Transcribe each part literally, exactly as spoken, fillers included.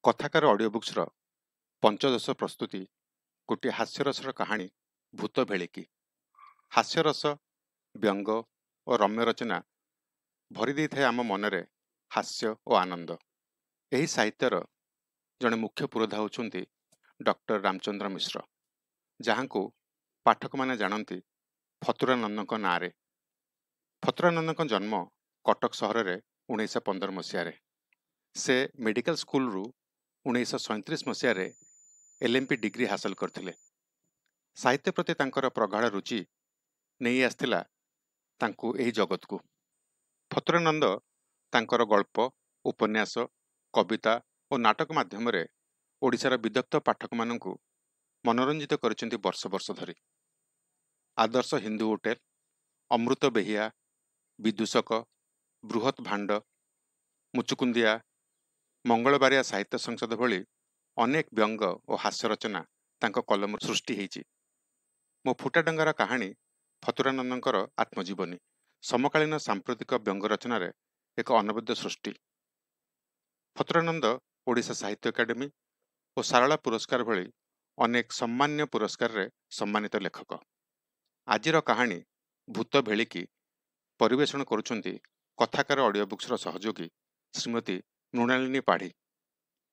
କଥାକାର ଅଡ଼ିଓ ବୁକ୍ସର ପଞ୍ଚଦଶ ପ୍ରସ୍ତୁତି ଗୋଟିଏ ହାସ୍ୟରସର କାହାଣୀ ଭୂତ ଭେଳିକି। ହାସ୍ୟରସ, ବ୍ୟଙ୍ଗ ଓ ରମ୍ୟ ରଚନା ଭରି ଦେଇଥାଏ ଆମ ମନରେ ହାସ୍ୟ ଓ ଆନନ୍ଦ। ଏହି ସାହିତ୍ୟର ଜଣେ ମୁଖ୍ୟ ପୁରୋଧା ହେଉଛନ୍ତି ଡକ୍ଟର ରାମଚନ୍ଦ୍ର ମିଶ୍ର, ଯାହାଙ୍କୁ ପାଠକମାନେ ଜାଣନ୍ତି ଫତୁରାନନ୍ଦଙ୍କ ନାଁରେ। ଫତୁରାନନ୍ଦଙ୍କ ଜନ୍ମ କଟକ ସହରରେ ଉଣେଇଶହ ପନ୍ଦର ମସିହାରେ। ସେ ମେଡ଼ିକାଲ ସ୍କୁଲରୁ ଉଣେଇଶହ ସଇଁତିରିଶ ମସିହାରେ ଏଲ୍ ଏମ୍ ପି ଡିଗ୍ରୀ ହାସଲ କରିଥିଲେ। ସାହିତ୍ୟ ପ୍ରତି ତାଙ୍କର ପ୍ରଗାଢ଼ ରୁଚି ନେଇ ଆସିଥିଲା ତାଙ୍କୁ ଏହି ଜଗତକୁ। ଫତୁରାନନ୍ଦ ତାଙ୍କର ଗଳ୍ପ, ଉପନ୍ୟାସ, କବିତା ଓ ନାଟକ ମାଧ୍ୟମରେ ଓଡ଼ିଶାର ବିଦଗ୍ଧ ପାଠକମାନଙ୍କୁ ମନୋରଞ୍ଜିତ କରିଛନ୍ତି ବର୍ଷ ବର୍ଷ ଧରି। ଆଦର୍ଶ ହିନ୍ଦୁ ହୋଟେଲ, ଅମୃତ ବେହିଆ, ବିଦୂଷକ, ବୃହତ୍ ଭାଣ୍ଡ, ମୁଚୁକୁନ୍ଦିଆ, ମଙ୍ଗଳବାରିଆ ସାହିତ୍ୟ ସଂସଦ ଭଳି ଅନେକ ବ୍ୟଙ୍ଗ ଓ ହାସ୍ୟ ରଚନା ତାଙ୍କ କଲମରୁ ସୃଷ୍ଟି ହେଇଛି। ମୋ ଫୁଟାଡଙ୍ଗାର କାହାଣୀ ଫତୁରାନନ୍ଦଙ୍କର ଆତ୍ମଜୀବନୀ, ସମକାଳୀନ ସାମ୍ପ୍ରତିକ ବ୍ୟଙ୍ଗ ରଚନାରେ ଏକ ଅନବଦ୍ୟ ସୃଷ୍ଟି। ଫତୁରାନନ୍ଦ ଓଡ଼ିଶା ସାହିତ୍ୟ ଏକାଡେମୀ ଓ ସାରଳା ପୁରସ୍କାର ଭଳି ଅନେକ ସମ୍ମାନୀୟ ପୁରସ୍କାରରେ ସମ୍ମାନିତ ଲେଖକ। ଆଜିର କାହାଣୀ ଭୂତ ଭେଳିକି ପରିବେଷଣ କରୁଛନ୍ତି କଥାକାର ଅଡ଼ିଓ ବୁକ୍ସର ସହଯୋଗୀ ଶ୍ରୀମତୀ ମୃଣାଳିନୀ ପାଢ଼ୀ।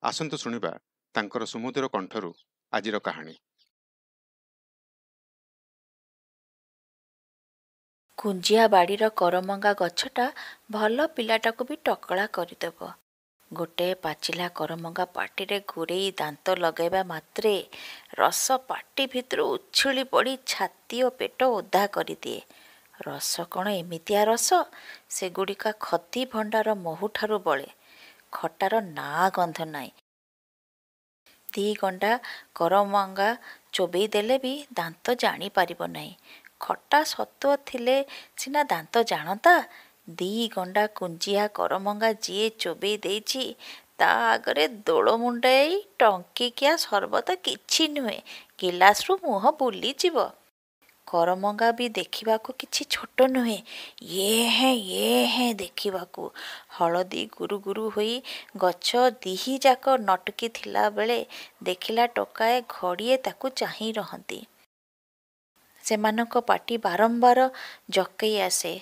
ଆସନ୍ତୁ ଶୁଣିବା ତାଙ୍କର ସୁମଧୁର କଣ୍ଠରୁ ଆଜିର କାହାଣୀ। କୁଞ୍ଜିଆ ବାଡ଼ିର କରମଙ୍ଗା ଗଛଟା ଭଲ ପିଲାଟାକୁ ବି ଟକଳା କରିଦେବ। ଗୋଟାଏ ପାଚିଲା କରମଙ୍ଗା ପାଟିରେ ଗୁରେଇ ଦାନ୍ତ ଲଗାଇବା ମାତ୍ରେ ରସ ପାଟି ଭିତରୁ ଉଛୁଳି ପଡ଼ି ଛାତି ଓ ପେଟ ଓଦା କରିଦିଏ। ରସ କ'ଣ ଏମିତିଆ ରସ? ସେଗୁଡ଼ିକ ଖଦି ଭଣ୍ଡାର ମହୁଠାରୁ ବଳେ। ଖଟାର ନାଁ ଗନ୍ଧ ନାହିଁ। ଦି ଗଣ୍ଡା କରମଙ୍ଗା ଚୋବେଇ ଦେଲେ ବି ଦାନ୍ତ ଜାଣିପାରିବ ନାହିଁ। ଖଟା ସତ୍ତ୍ୱ ଥିଲେ ସିନା ଦାନ୍ତ ଜାଣନ୍ତା। ଦି ଗଣ୍ଡା କୁଞ୍ଜିଆ କରମଙ୍ଗା ଯିଏ ଚୋବେଇ ଦେଇଛି ତା ଆଗରେ ଦୋଳମୁଣ୍ଡାଇ ଟଙ୍କିକିଆ ସରବତ କିଛି ନୁହେଁ, ଗିଲାସରୁ ମୁହଁ ବୁଲିଯିବ। କରମଙ୍ଗା ବି ଦେଖିବାକୁ କିଛି ଛୋଟ ନୁହେଁ, ଇଏ ହେଁ ଇଏ ହେଁ ଦେଖିବାକୁ। ହଳଦୀ ଗୁରୁ ଗୁରୁ ହୋଇ ଗଛ ଦିହିଯାକ ନଟକି ଥିଲାବେଳେ ଦେଖିଲା ଟୋକାଏ ଘଡ଼ିଏ ତାକୁ ଚାହିଁ ରହନ୍ତି। ସେମାନଙ୍କ ପାଟି ବାରମ୍ବାର ଜକେଇ ଆସେ।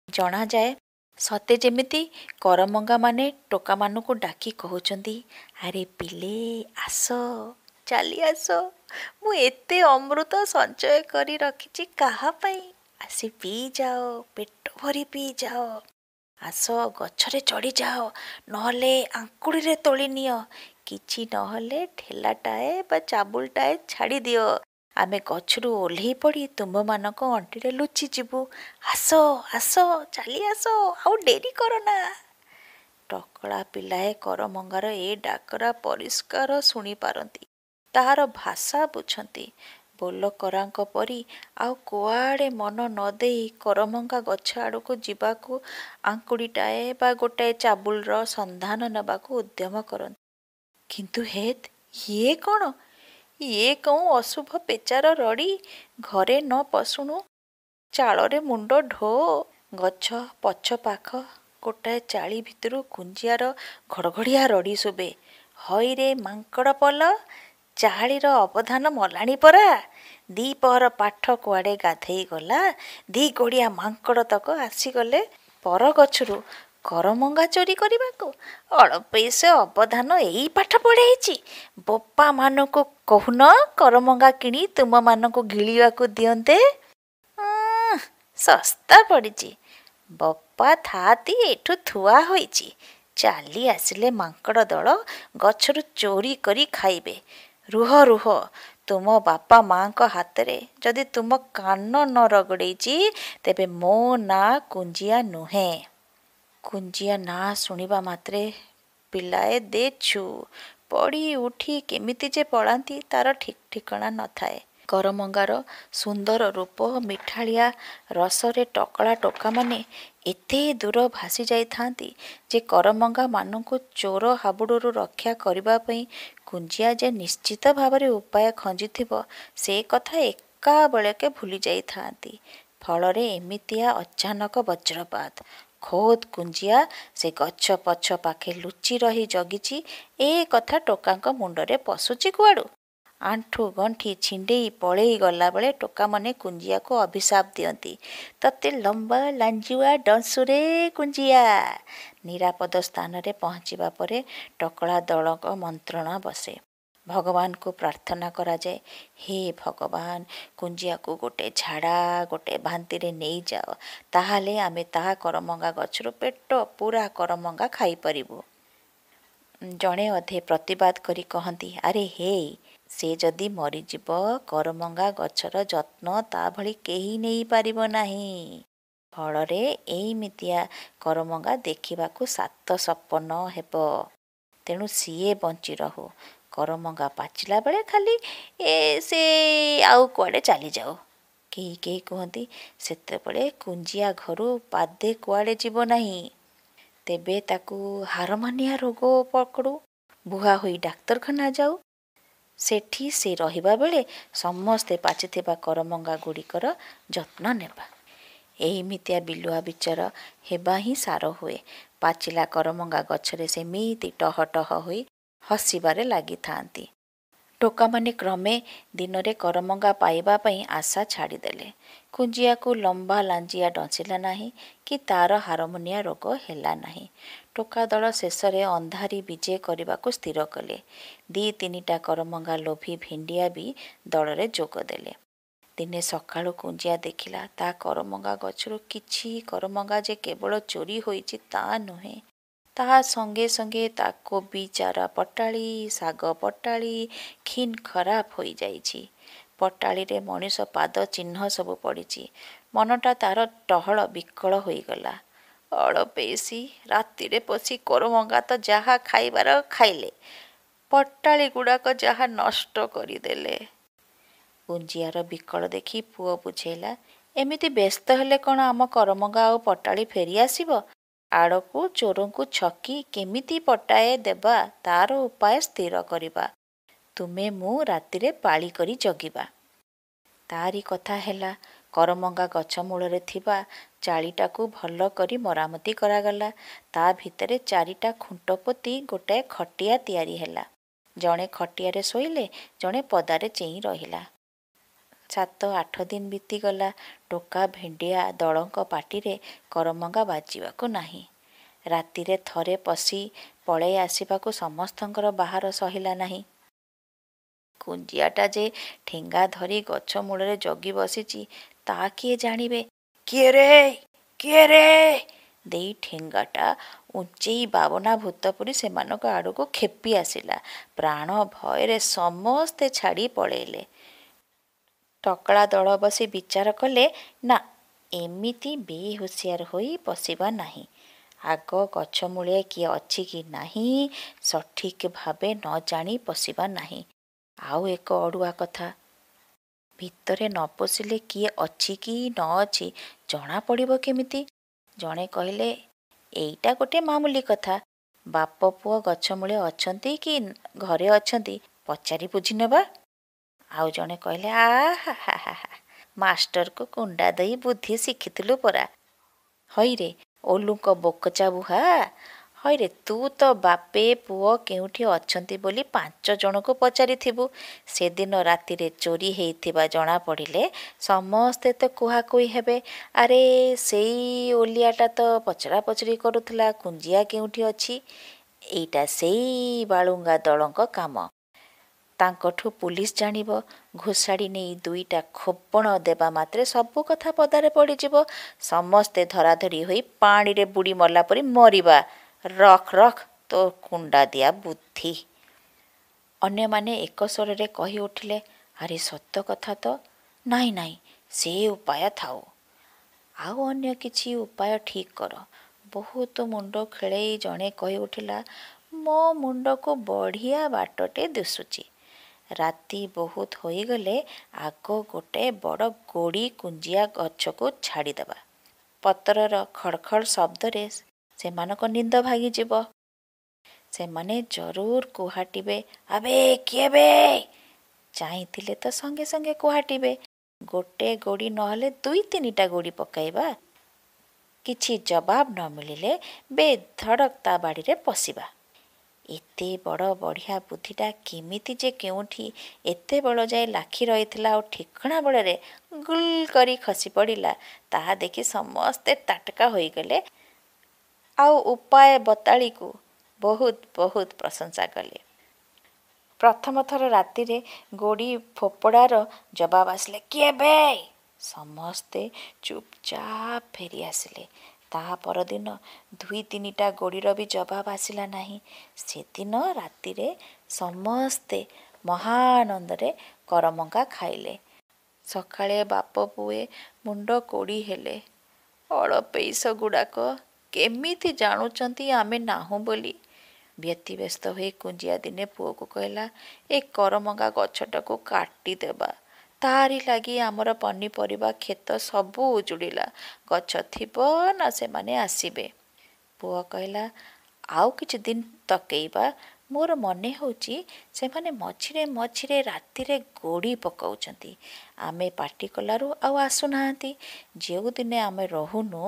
ଜଣାଯାଏ ସତେ ଯେମିତି କରମଙ୍ଗାମାନେ ଟୋକାମାନଙ୍କୁ ଡାକି କହୁଛନ୍ତି, ଆରେ ପିଲେ ଆସ, ଚାଲି ଆସ, ମୁଁ ଏତେ ଅମୃତ ସଞ୍ଚୟ କରି ରଖିଛି କାହା ପାଇଁ? ଆସି ପିଇଯାଅ, ପେଟ ଭରି ପିଇଯାଅ। ଆସ ଗଛରେ ଚଢ଼ିଯାଅ, ନହେଲେ ଆଙ୍କୁଡ଼ିରେ ତୋଳି ନିଅ। କିଛି ନହେଲେ ଠେଲାଟାଏ ବା ଚାବୁଲଟାଏ ଛାଡ଼ିଦିଅ, ଆମେ ଗଛରୁ ଓହ୍ଲେଇ ପଡ଼ି ତୁମ୍ଭମାନଙ୍କ ଅଣ୍ଟିରେ ଲୁଚିଯିବୁ। ଆସ ଆସ, ଚାଲି ଆସ, ଆଉ ଡେରି କରନା। ଟକଳା ପିଲାଏ କରମଙ୍ଗାର ଏ ଡାକରା ପରିଷ୍କାର ଶୁଣିପାରନ୍ତି, ତାହାର ଭାଷା ବୁଝନ୍ତି। ବୋଲକରାଙ୍କ ପରି ଆଉ କୁଆଡ଼େ ମନ ନ ଦେଇ କରମଙ୍ଗା ଗଛ ଆଡ଼କୁ ଯିବାକୁ ଆଙ୍କୁଡ଼ିଟାଏ ବା ଗୋଟାଏ ଚାବୁଲର ସନ୍ଧାନ ନେବାକୁ ଉଦ୍ୟମ କରନ୍ତି। କିନ୍ତୁ ହେତ୍, ଇଏ କ'ଣ? ଇଏ କେଉଁ ଅଶୁଭ ପେଚାର ରଡ଼ି? ଘରେ ନ ପଶୁଣୁ ଚାଳରେ ମୁଣ୍ଡ ଢୋ। ଗଛ ପଛପାଖ ଗୋଟାଏ ଚାଳି ଭିତରୁ କୁଞ୍ଜିଆର ଘଡ଼ଘଡ଼ିଆ ରଡ଼ି ଶୁଭେ, ହଇରେ ମାଙ୍କଡ଼ ପଲ, ଚାଳିର ଅବଧାନ ମଲାଣି ପରା। ଦିପହର ପାଠ କୁଆଡ଼େ ଗାଧେଇ ଗଲା। ଦି ଗୋଡ଼ିଆ ମାଙ୍କଡ଼ ତକ ଆସିଗଲେ ପର ଗଛରୁ କରମଙ୍ଗା ଚୋରି କରିବାକୁ। ଅଳପଇସେ ଅବଧାନ ଏଇ ପାଠ ପଢ଼େଇଛି। ବୋପାମାନଙ୍କୁ କହୁନ କରମଙ୍ଗା କିଣି ତୁମମାନଙ୍କୁ ଗିଳିବାକୁ ଦିଅନ୍ତେ। ଶସ୍ତା ପଡ଼ିଛି। ବପା ଥାଆତି ଏଠୁ ଥୁଆ ହୋଇଛି, ଚାଲି ଆସିଲେ ମାଙ୍କଡ଼ ଦଳ ଗଛରୁ ଚୋରି କରି ଖାଇବେ। ରୁହ ରୁହ, ତୁମ ବାପା ମାଆଙ୍କ ହାତରେ ଯଦି ତୁମ କାନ ନ ରଗଡ଼େଇଛି ତେବେ ମୋ ନାଁ କୁଞ୍ଜିଆ ନୁହେଁ। କୁଞ୍ଜିଆ ନାଁ ଶୁଣିବା ମାତ୍ରେ ପିଲାଏ ଦେଛୁ ପଡ଼ି ଉଠି କେମିତି ଯେ ପଳାନ୍ତି ତାର ଠିକ୍ ଠିକଣା ନଥାଏ। କରମଙ୍ଗାର ସୁନ୍ଦର ରୂପ, ମିଠାଳିଆ ରସରେ ଟକଳା ଟୋକାମାନେ ଏତେ ଦୂର ଭାସି ଯାଇଥାନ୍ତି ଯେ କରମଙ୍ଗାମାନଙ୍କୁ ଚୋର ହାବୁଡ଼ରୁ ରକ୍ଷା କରିବା ପାଇଁ କୁଞ୍ଜିଆ ଯେ ନିଶ୍ଚିତ ଭାବରେ ଉପାୟ ଖଞ୍ଜିଥିବ ସେ କଥା ଏକାବେଳକେ ଭୁଲି ଯାଇଥାନ୍ତି। ଫଳରେ ଏମିତିଆ ଅଚାନକ ବଜ୍ରପାତ। ଖୋଦ୍ କୁଞ୍ଜିଆ ସେ ଗଛ ପଛ ପାଖେ ଲୁଚି ରହି ଜଗିଛି, ଏ କଥା ଟୋକାଙ୍କ ମୁଣ୍ଡରେ ପଶୁଛି କୁଆଡ଼ୁ? ଆଣ୍ଠୁ ଗଣ୍ଠି ଛିଣ୍ଡେଇ ପଳେଇ ଗଲାବେଳେ ଟୋକାମାନେ କୁଞ୍ଜିଆକୁ ଅଭିଶାପ ଦିଅନ୍ତି, ତତେ ଲମ୍ବା ଲାଞ୍ଜୁଆ ଡଂସୁରେ କୁଞ୍ଜିଆ। ନିରାପଦ ସ୍ଥାନରେ ପହଞ୍ଚିବା ପରେ ଟକଳା ଦଳଙ୍କ ମନ୍ତ୍ରଣା ବସେ। ଭଗବାନଙ୍କୁ ପ୍ରାର୍ଥନା କରାଯାଏ, ହେ ଭଗବାନ, କୁଞ୍ଜିଆକୁ ଗୋଟେ ଝାଡ଼ା ଗୋଟେ ବାନ୍ତିରେ ନେଇଯାଅ, ତାହେଲେ ଆମେ ତା କରମଙ୍ଗା ଗଛରୁ ପେଟ ପୂରା କରମଙ୍ଗା ଖାଇପାରିବୁ। ଜଣେ ଅଧେ ପ୍ରତିବାଦ କରି କହନ୍ତି, ଆରେ ହେଇ, ସେ ଯଦି ମରିଯିବ, କରମଙ୍ଗା ଗଛର ଯତ୍ନ ତା ଭଳି କେହି ନେଇପାରିବ ନାହିଁ। ଫଳରେ ଏଇମିତିଆ କରମଙ୍ଗା ଦେଖିବାକୁ ସାତ ସପନ ହେବ। ତେଣୁ ସିଏ ବଞ୍ଚି ରହୁ, କରମଙ୍ଗା ପାଚିଲା ବେଳେ ଖାଲି ଏ ସେ ଆଉ କୁଆଡ଼େ ଚାଲିଯାଉ। କେହି କେହି କୁହନ୍ତି, ସେତେବେଳେ କୁଞ୍ଜିଆ ଘରୁ ପାଦେ କୁଆଡ଼େ ଯିବ ନାହିଁ। ତେବେ ତାକୁ ହାରମାନିଆ ରୋଗ ପକଡ଼ୁ, ବୁହା ହୋଇ ଡାକ୍ତରଖାନା ଯାଉ। ସେଠି ସେ ରହିବା ବେଳେ ସମସ୍ତେ ପାଚିଥିବା କରମଙ୍ଗା ଗୁଡ଼ିକର ଯତ୍ନ ନେବା। ଏଇମିତିଆ ବିଲୁଆ ବିଚାର ହେବା ହିଁ ସାର ହୁଏ। ପାଚିଲା କରମଙ୍ଗା ଗଛରେ ସେମିତି ଟହ ଟହ ହୋଇ ହସିବାରେ ଲାଗିଥାନ୍ତି। ଟୋକାମାନେ କ୍ରମେ ଦିନରେ କରମଙ୍ଗା ପାଇବା ପାଇଁ ଆଶା ଛାଡ଼ିଦେଲେ। କୁଞ୍ଜିଆକୁ ଲମ୍ବା ଲାଞ୍ଜିଆ ଡଂସିଲା ନାହିଁ କି ତା'ର ହାରମୁନିଆ ରୋଗ ହେଲା ନାହିଁ। ଟୋକା ଦଳ ଶେଷରେ ଅନ୍ଧାରି ବିଜେ କରିବାକୁ ସ୍ଥିର କଲେ। ଦି ତିନିଟା କରମଙ୍ଗା ଲୋଭୀ ଭେଣ୍ଡିଆ ବି ଦଳରେ ଯୋଗ ଦେଲେ। ଦିନେ ସକାଳୁ କୁଞ୍ଜିଆ ଦେଖିଲା, ତା କରମଙ୍ଗା ଗଛରୁ କିଛି କରମଙ୍ଗା ଯେ କେବଳ ଚୋରି ହୋଇଛି ତା ନୁହେଁ, ତା ସଙ୍ଗେ ସଙ୍ଗେ ତା କୋବି ଚାରା ପଟାଳି, ଶାଗ ପଟାଳି ଖିନ୍ ଖରାପ ହୋଇଯାଇଛି। ପଟାଳିରେ ମଣିଷ ପାଦ ଚିହ୍ନ ସବୁ ପଡ଼ିଛି। ମନଟା ତା'ର ଟହଳ ବିକଳ ହୋଇଗଲା। ଅଳପେଇଷି ରାତିରେ ପଶି କରମଙ୍ଗା ତ ଯାହା ଖାଇବାର ଖାଇଲେ, ପଟାଳି ଗୁଡ଼ାକ ଯାହା ନଷ୍ଟ କରିଦେଲେ। କୁଞ୍ଜିଆର ବିକଳ ଦେଖି ପୁଅ ବୁଝେଇଲା, ଏମିତି ବ୍ୟସ୍ତ ହେଲେ କ'ଣ ଆମ କରମଙ୍ଗା ଆଉ ପଟାଳି ଫେରି ଆସିବ? ଆଡ଼କୁ ଚୋରଙ୍କୁ ଛକି କେମିତି ପଟାଏ ଦେବା ତା'ର ଉପାୟ ସ୍ଥିର କରିବା। ତୁମେ ମୁଁ ରାତିରେ ପାଳି କରି ଜଗିବା। ତାରି କଥା ହେଲା। କରମଙ୍ଗା ଗଛ ମୂଳରେ ଥିବା ଚାଳିଟାକୁ ଭଲ କରି ମରାମତି କରାଗଲା। ତା ଭିତରେ ଚାରିଟା ଖୁଣ୍ଟ ପୋତି ଗୋଟାଏ ଖଟିଆ ତିଆରି ହେଲା। ଜଣେ ଖଟିଆରେ ଶୋଇଲେ, ଜଣେ ପଦାରେ ଚେଇଁ ରହିଲା। ସାତ ଆଠ ଦିନ ବିତିଗଲା। ଟୋକା ଭେଣ୍ଡିଆ ଦଳଙ୍କ ପାଟିରେ କରମଙ୍ଗା ବାଜିବାକୁ ନାହିଁ। ରାତିରେ ଥରେ ପଶି ପଳେଇ ଆସିବାକୁ ସମସ୍ତଙ୍କର ବାହାର ସହିଲା ନାହିଁ। କୁଞ୍ଜିଆଟା ଯେ ଠେଙ୍ଗା ଧରି ଗଛ ମୂଳରେ ଜଗି ବସିଛି ତା କିଏ ଜାଣିବେ? କିଏ ରେ, କିଏ ରେ ଦେଇ ଠେଙ୍ଗାଟା ଉଞ୍ଚେଇ ବାବନା ଭୂତ ପରି ସେମାନଙ୍କ ଆଡ଼କୁ ଖେପି ଆସିଲା। ପ୍ରାଣ ଭୟରେ ସମସ୍ତେ ଛାଡ଼ି ପଳେଇଲେ। ଟକଳା ଦଳ ବସି ବିଚାର କଲେ, ନା, ଏମିତି ବେହୁସିଆର ହୋଇ ପଶିବା ନାହିଁ। ଆଗ ଗଛ ମୂଳେ କିଏ ଅଛି କି ନାହିଁ ସଠିକ୍ ଭାବେ ନ ଜାଣି ପଶିବା ନାହିଁ। ଆଉ ଏକ ଅଡ଼ୁଆ କଥା, ଭିତରେ ନ ପଶିଲେ କିଏ ଅଛି କି ନ ଅଛି ଜଣା ପଡ଼ିବ କେମିତି? ଜଣେ କହିଲେ, ଏଇଟା ଗୋଟେ ମାମୁଲି କଥା। ବାପ ପୁଅ ଗଛ ମୂଳେ ଅଛନ୍ତି କି ଘରେ ଅଛନ୍ତି ପଚାରି ବୁଝିନେବା। ଆଉ ଜଣେ କହିଲେ, ଆ ହା ହା ହା, ମାଷ୍ଟରକୁ କୁଣ୍ଡା ଦେଇ ବୁଦ୍ଧି ଶିଖିଥିଲୁ ପରା। ହଇରେ ଓଲୁଙ୍କ ବୋକଚା ବୁହା, ହଇରେ ତୁ ତ ବାପେ ପୁଅ କେଉଁଠି ଅଛନ୍ତି ବୋଲି ପାଞ୍ଚ ଜଣକୁ ପଚାରିଥିବୁ। ସେଦିନ ରାତିରେ ଚୋରି ହେଇଥିବା ଜଣାପଡ଼ିଲେ ସମସ୍ତେ ତ କୁହାକୁହି ହେବେ, ଆରେ ସେଇ ଓଲିଆଟା ତ ପଚରା ପଚରି କରୁଥିଲା କୁଞ୍ଜିଆ କେଉଁଠି ଅଛି। ଏଇଟା ସେଇ ବାଳୁଙ୍ଗା ଦଳଙ୍କ କାମ। ତାଙ୍କଠୁ ପୁଲିସ ଜାଣିବ। ଘୋଷାଡ଼ି ନେଇ ଦୁଇଟା ଖୋବଣ ଦେବା ମାତ୍ରେ ସବୁ କଥା ପଦାରେ ପଡ଼ିଯିବ। ସମସ୍ତେ ଧରାଧରି ହୋଇ ପାଣିରେ ବୁଡ଼ି ମଲା ପରି ମରିବା। ରଖ ରଖ ତୋ କୁଣ୍ଡା ଦିଆ ବୁଦ୍ଧି। ଅନ୍ୟମାନେ ଏକ ସ୍ୱରରେ କହି ଉଠିଲେ, ଆରେ ସତ କଥା ତ। ନାଇଁ ନାଇଁ, ସେ ଉପାୟ ଥାଉ, ଆଉ ଅନ୍ୟ କିଛି ଉପାୟ ଠିକ୍ କର। ବହୁତ ମୁଣ୍ଡ ଖେଳେଇ ଜଣେ କହି ଉଠିଲା, ମୋ ମୁଣ୍ଡକୁ ବଢ଼ିଆ ବାଟଟେ ଦିଶୁଛି। ରାତି ବହୁତ ହୋଇଗଲେ ଆଗ ଗୋଟାଏ ବଡ଼ ଗୋଡ଼ି କୁଞ୍ଜିଆ ଗଛକୁ ଛାଡ଼ିଦେବା। ପତରର ଖଡ଼ଖଡ଼ ଶବ୍ଦରେ ସେମାନଙ୍କ ନିଦ ଭାଙ୍ଗିଯିବ। ସେମାନେ ଜରୁର କୁହାଟିବେ, ଆବେ କିଏ ବେ? ଚାହିଁଥିଲେ ତ ସଙ୍ଗେ ସଙ୍ଗେ କୁହାଟିବେ। ଗୋଟେ ଗୋଡ଼ି ନହେଲେ ଦୁଇ ତିନିଟା ଗୋଡ଼ି ପକାଇବା। କିଛି ଜବାବ ନ ମିଳିଲେ ବେଧଡ଼କ ତା ବାଡ଼ିରେ ପଶିବା। ଏତେ ବଡ଼ ବଢ଼ିଆ ବୁଦ୍ଧିଟା କେମିତି ଯେ କେଉଁଠି ଏତେବେଳ ଯାଏ ଲାଖି ରହିଥିଲା ଆଉ ଠିକଣା ବେଳରେ ଗୁଲ୍ କରି ଖସି ପଡ଼ିଲା, ତାହା ଦେଖି ସମସ୍ତେ ତାଟକା ହୋଇଗଲେ ଆଉ ଉପାୟ ବତାଳିକୁ ବହୁତ ବହୁତ ପ୍ରଶଂସା କଲେ। ପ୍ରଥମ ଥର ରାତିରେ ଗୋଡ଼ି ଫୋପଡ଼ାର ଜବାବ ଆସିଲା, କିଏ ବେ? ସମସ୍ତେ ଚୁପଚାପ ଫେରି ଆସିଲେ। ତା ପରଦିନ ଦୁଇ ତିନିଟା ଗୋଡ଼ିର ବି ଜବାବ ଆସିଲା ନାହିଁ। ସେଦିନ ରାତିରେ ସମସ୍ତେ ମହାଆନନ୍ଦରେ କରମଙ୍ଗା ଖାଇଲେ। ସକାଳେ ବାପ ପୁଏ ମୁଣ୍ଡ କୋଡ଼ି ହେଲେ। ଅଳପେଇଷଗୁଡ଼ାକ କେମିତି ଜାଣୁଛନ୍ତି ଆମେ ନାହୁଁ ବୋଲି। ବ୍ୟତିବ୍ୟସ୍ତ ହୋଇ କୁଞ୍ଜିଆ ଦିନେ ପୁଅକୁ କହିଲା, ଏ କରମଙ୍ଗା ଗଛଟାକୁ କାଟିଦେବା। ତାରି ଲାଗି ଆମର ପନିପରିବା କ୍ଷେତ ସବୁ ଉଜୁଡ଼ିଲା। ଗଛ ଥିବ ନା ସେମାନେ ଆସିବେ? ପୁଅ କହିଲା, ଆଉ କିଛି ଦିନ ତକେଇବା। ମୋର ମନେ ହେଉଛି ସେମାନେ ମଝିରେ ମଝିରେ ରାତିରେ ଗୋଡ଼ି ପକାଉଛନ୍ତି। ଆମେ ପାଟି କଲାରୁ ଆଉ ଆସୁନାହାନ୍ତି। ଯେଉଁଦିନେ ଆମେ ରହୁନୁ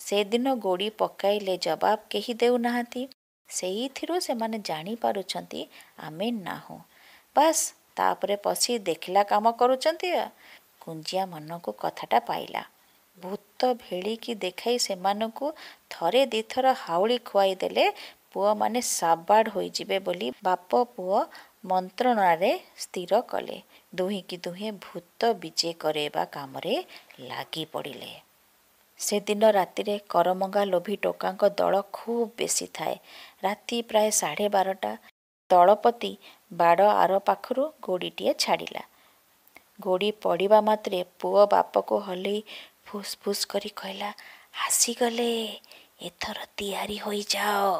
ସେଦିନ ଗୋଡ଼ି ପକାଇଲେ ଜବାବ କେହି ଦେଉନାହାନ୍ତି। ସେଇଥିରୁ ସେମାନେ ଜାଣିପାରୁଛନ୍ତି ଆମେ ନାହୁଁ। ବାସ୍, ତାପରେ ପଶି ଦେଖିଲା କାମ କରୁଛନ୍ତି। କୁଞ୍ଜିଆ ମନକୁ କଥାଟା ପାଇଲା। ଭୂତ ଭେଳିକି ଦେଖାଇ ସେମାନଙ୍କୁ ଥରେ ଦୁଇଥର ହାଉଳି ଖୁଆଇ ଦେଲେ ପୁଅମାନେ ସାବାଡ଼ ହୋଇଯିବେ ବୋଲି ବାପ ପୁଅ ମନ୍ତ୍ରଣାରେ ସ୍ଥିର କଲେ। ଦୁହିଁକି ଦୁହେଁ ଭୂତ ବିଜେ କରେଇବା କାମରେ ଲାଗି ପଡ଼ିଲେ। ସେଦିନ ରାତିରେ କରମଙ୍ଗା ଲୋଭୀ ଟୋକାଙ୍କ ଦଳ ଖୁବ୍ ବେଶୀ ଥାଏ। ରାତି ପ୍ରାୟ ସାଢ଼େ ବାରଟା। ଦଳପତି ବାଡ଼ ଆର ପାଖରୁ ଗୋଡ଼ିଟିଏ ଛାଡ଼ିଲା। ଗୋଡ଼ି ପଡ଼ିବା ମାତ୍ରେ ପୁଅ ବାପକୁ ହଲେଇ ଫୁସ୍ ଫୁସ୍ କରି କହିଲା, ଆସିଗଲେ, ଏଥର ତିଆରି ହୋଇଯାଅ।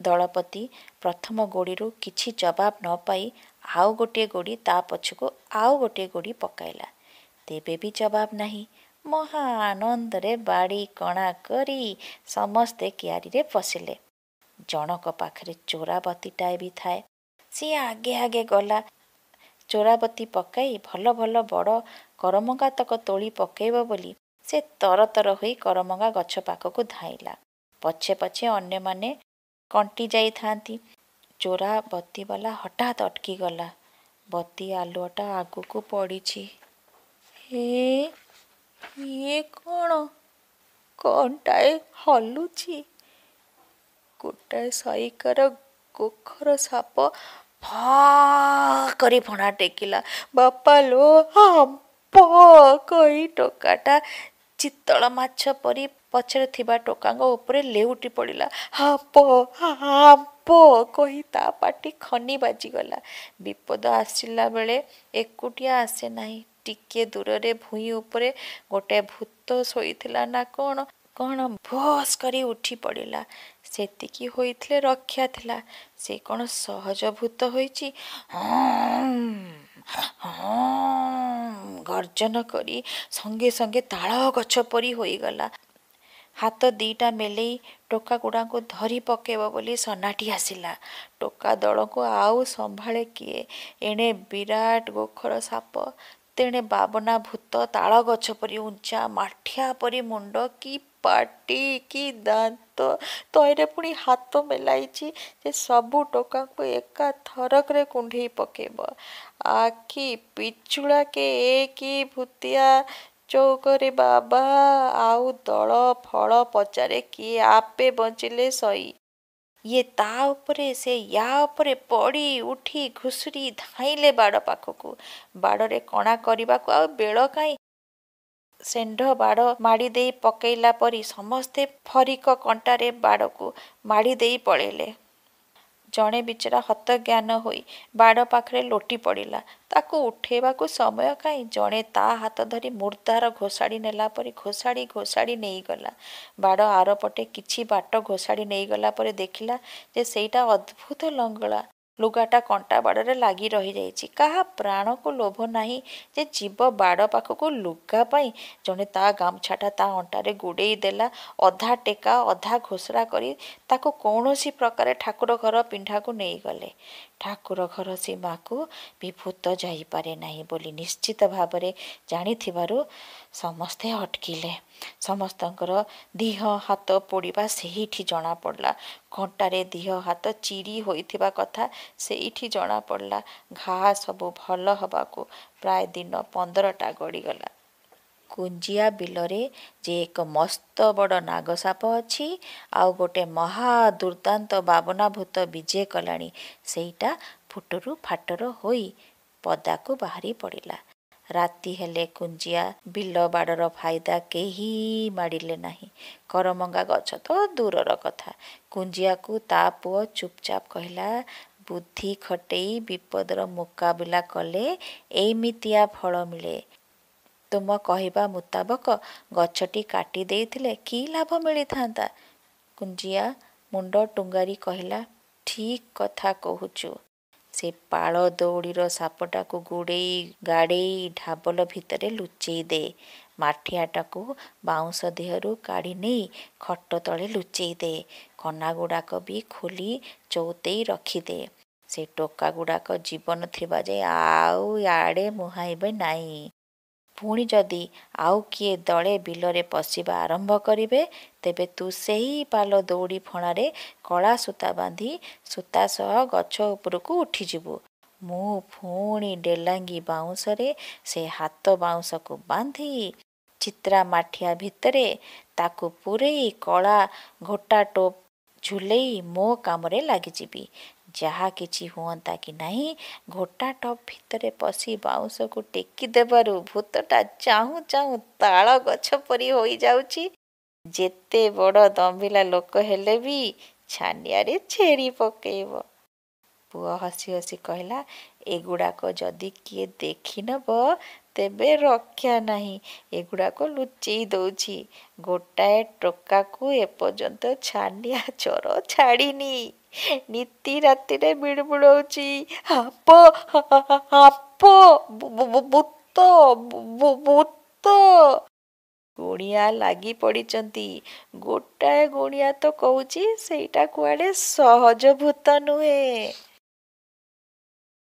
ଦଳପତି ପ୍ରଥମ ଗୋଡ଼ିରୁ କିଛି ଜବାବ ନ ପାଇ ଆଉ ଗୋଟିଏ ଗୋଡ଼ି, ତା ପଛକୁ ଆଉ ଗୋଟିଏ ଗୋଡ଼ି ପକାଇଲା। ତେବେ ବି ଜବାବ ନାହିଁ। ମହା ଆନନ୍ଦରେ ବାଡ଼ି କଣା କରି ସମସ୍ତେ କିଆରିରେ ପଶିଲେ। ଜଣକ ପାଖରେ ଚୋରାବତୀଟାଏ ବି ଥାଏ। ସିଏ ଆଗେ ଆଗେ ଗଲା। ଚୋରାବତୀ ପକାଇ ଭଲ ଭଲ ବଡ଼ କରମଙ୍ଗାତକ ତୋଳି ପକାଇବ ବୋଲି ସେ ତରତର ହୋଇ କରମଙ୍ଗା ଗଛ ପାଖକୁ ଧାଇଁଲା। ପଛେ ପଛେ ଅନ୍ୟମାନେ କଣ୍ଟି ଯାଇଥାନ୍ତି। ଚୋରାବତୀବାଲା ହଠାତ୍ ଅଟକିଗଲା। ବତୀ ଆଲୁଅଟା ଆଗକୁ ପଡ଼ିଛି। ହେ, ଇଏ କ'ଣ? କ'ଣଟାଏ ହଲୁଛି। ଗୋଟାଏ ସଇକାର ଗୋଖର ସାପ ଫା କରି ଫଣା ଟେକିଲା। ବାପା ଲୋ, ହାମ୍ପ କହି ଟୋକାଟା ଚିତଳ ମାଛ ପରି ପଛରେ ଥିବା ଟୋକାଙ୍କ ଉପରେ ଲେଉଟି ପଡ଼ିଲା। ହାମ୍ପ ହାମ୍ପ କହି ତା ପାଟି ଖନି ବାଜିଗଲା। ବିପଦ ଆସିଲା ବେଳେ ଏକୁଟିଆ ଆସେ ନାହିଁ। ଟିକିଏ ଦୂରରେ ଭୂଇଁ ଉପରେ ଗୋଟାଏ ଭୂତ ଶୋଇଥିଲା ନା କ'ଣ, କ'ଣ ଭୋସ୍ କରି ଉଠି ପଡ଼ିଲା। ସେତିକି ହୋଇଥିଲେ ରକ୍ଷା ଥିଲା। ସେ କ'ଣ ସହଜ ଭୂତ ହୋଇଛି? ହଁ ଗର୍ଜନ କରି ସଙ୍ଗେ ସଙ୍ଗେ ତାଳ ଗଛ ପରି ହୋଇଗଲା। ହାତ ଦିଟା ମେଲେଇ ଟୋକାଗୁଡ଼ାଙ୍କୁ ଧରି ପକେଇବ ବୋଲି ସନାଟି ଆସିଲା। ଟୋକା ଦଳକୁ ଆଉ ସମ୍ଭାଳେ କିଏ? ଏଣେ ବିରାଟ ଗୋଖର ସାପ, ତେଣେ ବାବନା ଭୂତ, ତାଳ ଗଛ ପରି ଉଞ୍ଚା, ମାଠିଆ ପରି ମୁଣ୍ଡ, କି ପାଟି, କି ଦାନ୍ତ, ତହିଁରେ ପୁଣି ହାତ ମେଲାଇଛି ଯେ ସବୁ ଟୋକାଙ୍କୁ ଏକା ଥରକରେ କୁଣ୍ଢେଇ ପକେଇବ। ଆଖି ପିଛୁଳାକେ ଏ କି ଭୂତିଆ ଚଉକରେ ବାବା! ଆଉ ଦଳ ଫଳ ପଚାରେ କିଏ? ଆପେ ବଞ୍ଚିଲେ ସଇ। ଇଏ ତା ଉପରେ ସେ ୟା ଉପରେ ପଡ଼ି ଉଠି ଘୁଷୁରି ଧାଇଁଲେ ବାଡ଼ ପାଖକୁ। ବାଡ଼ରେ କଣା କରିବାକୁ ଆଉ ବେଳ କାହିଁ? ଷେଣ୍ଢ ବାଡ଼ ମାଡ଼ି ଦେଇ ପକେଇଲା ପରି ସମସ୍ତେ ଫରିକ କଣ୍ଟାରେ ବାଡ଼କୁ ମାଡ଼ି ଦେଇ ପଳେଇଲେ। ଜଣେ ବିଚରା ହତଜ୍ଞାନ ହୋଇ ବାଡ଼ ପାଖରେ ଲୋଟି ପଡ଼ିଲା। ତାକୁ ଉଠେଇବାକୁ ସମୟ କାହିଁ? ଜଣେ ତା ହାତ ଧରି ମୁର୍ଦ୍ଦାର ଘୋଷାଡ଼ି ନେଲା ପରି ଘୋଷାଡ଼ି ଘୋଷାଡ଼ି ନେଇଗଲା। ବାଡ଼ ଆରପଟେ କିଛି ବାଟ ଘୋଷାଡ଼ି ନେଇଗଲା ପରେ ଦେଖିଲା ଯେ ସେଇଟା ଅଦ୍ଭୁତ ଲଙ୍ଗଳା। ଲୁଗାଟା କଣ୍ଟା ବାଡ଼ରେ ଲାଗି ରହିଯାଇଛି। କାହା ପ୍ରାଣକୁ ଲୋଭ ନାହିଁ ଯେ ଯିବ ବାଡ଼ ପାଖକୁ ଲୁଗା ପାଇଁ। ଜଣେ ତା ଗାମୁଛାଟା ତା ଅଣ୍ଟାରେ ଗୁଡ଼େଇ ଦେଲା। ଅଧା ଟେକା ଅଧା ଘୋଷରା କରି ତାକୁ କୌଣସି ପ୍ରକାରେ ଠାକୁର ଘର ପିଣ୍ଡାକୁ ନେଇଗଲେ। ଠାକୁର ଘର ସୀମାକୁ ବି ଭୂତ ଯାଇପାରେ ନାହିଁ ବୋଲି ନିଶ୍ଚିତ ଭାବରେ ଜାଣିଥିବାରୁ ସମସ୍ତେ ଅଟକିଲେ। ସମସ୍ତଙ୍କର ଦିହ ହାତ ପୋଡ଼ିବା ସେଇଠି ଜଣାପଡ଼ିଲା। କଣ୍ଟାରେ ଦିହ ହାତ ଚିରି ହୋଇଥିବା କଥା ସେଇଠି ଜଣାପଡ଼ିଲା। ଘା ସବୁ ଭଲ ହେବାକୁ ପ୍ରାୟ ଦିନ ପନ୍ଦରଟା ଗଡ଼ିଗଲା। କୁଞ୍ଜିଆ ବିଲରେ ଯେ ଏକ ମସ୍ତ ବଡ଼ ନାଗସାପ ଅଛି, ଆଉ ଗୋଟେ ମହା ଦୁର୍ଦ୍ଦାନ୍ତ ବାବନା ଭୂତ ବିଜେ କଲାଣି, ସେଇଟା ଫୁଟରୁ ଫାଟର ହୋଇ ପଦାକୁ ବାହାରି ପଡ଼ିଲା। ରାତି ହେଲେ କୁଞ୍ଜିଆ ବିଲ ବାଡ଼ର ଫାଇଦା କେହି ମାଡ଼ିଲେ ନାହିଁ। କରମଙ୍ଗା ଗଛ ତ ଦୂରର କଥା। କୁଞ୍ଜିଆକୁ ତା ପୁଅ ଚୁପଚାପ କହିଲା, ବୁଦ୍ଧି ଖଟେଇ ବିପଦର ମୁକାବିଲା କଲେ ଏଇମିତିଆ ଫଳ ମିଳେ। ତୁମ କହିବା ମୁତାବକ ଗଛଟି କାଟି ଦେଇଥିଲେ କି ଲାଭ ମିଳିଥାନ୍ତା? କୁଞ୍ଜିଆ ମୁଣ୍ଡ ଟୁଙ୍ଗାରି କହିଲା, ଠିକ୍ କଥା କହୁଛୁ। ସେ ପାଳ ଦଉଡ଼ିର ସାପଟାକୁ ଗୁଡ଼େଇ ଗାଡ଼େଇ ଢାବଲ ଭିତରେ ଲୁଚେଇ ଦେ। ମାଠିଆଟାକୁ ବାଉଁଶ ଦେହରୁ କାଢ଼ି ନେଇ ଖଟ ତଳେ ଲୁଚେଇ ଦେ। କନାଗୁଡ଼ାକ ବି ଖୋଲି ଚଉତେଇ ରଖିଦେ। ସେ ଟୋକାଗୁଡ଼ାକ ଜୀବନ ଥିବା ଯାଏ ଆଉ ୟାଡ଼େ ମୁହାଁଇବେ ନାହିଁ। ପୁଣି ଯଦି ଆଉ କିଏ ଦଳେ ବିଲରେ ପଶିବା ଆରମ୍ଭ କରିବେ, ତେବେ ତୁ ସେହି ପାଲ ଦଉଡ଼ି ଫଣାରେ କଳା ସୂତା ବାନ୍ଧି ସୂତା ସହ ଗଛ ଉପରକୁ ଉଠିଯିବୁ। ମୁଁ ପୁଣି ଡେଲାଙ୍ଗି ବାଉଁଶରେ ସେ ହାତ ବାଉଁଶକୁ ବାନ୍ଧି ଚିତ୍ରା ମାଠିଆ ଭିତରେ ତାକୁ ପୂରେଇ କଳା ଘୋଟା ଟୋପ ଝୁଲେଇ ମୋ କାମରେ ଲାଗିଯିବି। ଯାହା କିଛି ହୁଅନ୍ତା କି ନାହିଁ, ଘୋଟା ଟପ୍ ଭିତରେ ପଶି ବାଉଁଶକୁ ଟେକି ଦେବାରୁ ଭୂତଟା ଚାହୁଁ ଚାହୁଁ ତାଳ ଗଛ ପରି ହୋଇଯାଉଛି। ଯେତେ ବଡ଼ ଦମ୍ଭିଲା ଲୋକ ହେଲେ ବି ଛାନିଆରେ ଛେରି ପକେଇବ। ପୁଅ ହସି ହସି କହିଲା, ଏଗୁଡ଼ାକ ଯଦି କିଏ ଦେଖିନବ ତେବେ ରକ୍ଷା ନାହିଁ। ଏଗୁଡ଼ାକ ଲୁଚେଇ ଦଉଛି। ଗୋଟାଏ ଟୋକାକୁ ଏପର୍ଯ୍ୟନ୍ତ ଛାନିଆ ଜର ଛାଡ଼ିନି। ନିତି ରାତିରେ ବିଳୁବିଳଉଛି, ସାପ ସାପ, ଭୂତ ଭୂତ। ଗୁଣିଆ ଲାଗି ପଡ଼ିଛନ୍ତି। ଗୋଟାଏ ଗୁଣିଆ ତ କହୁଛି ସେଇଟା କୁଆଡ଼େ ସହଜ ଭୂତ ନୁହେଁ।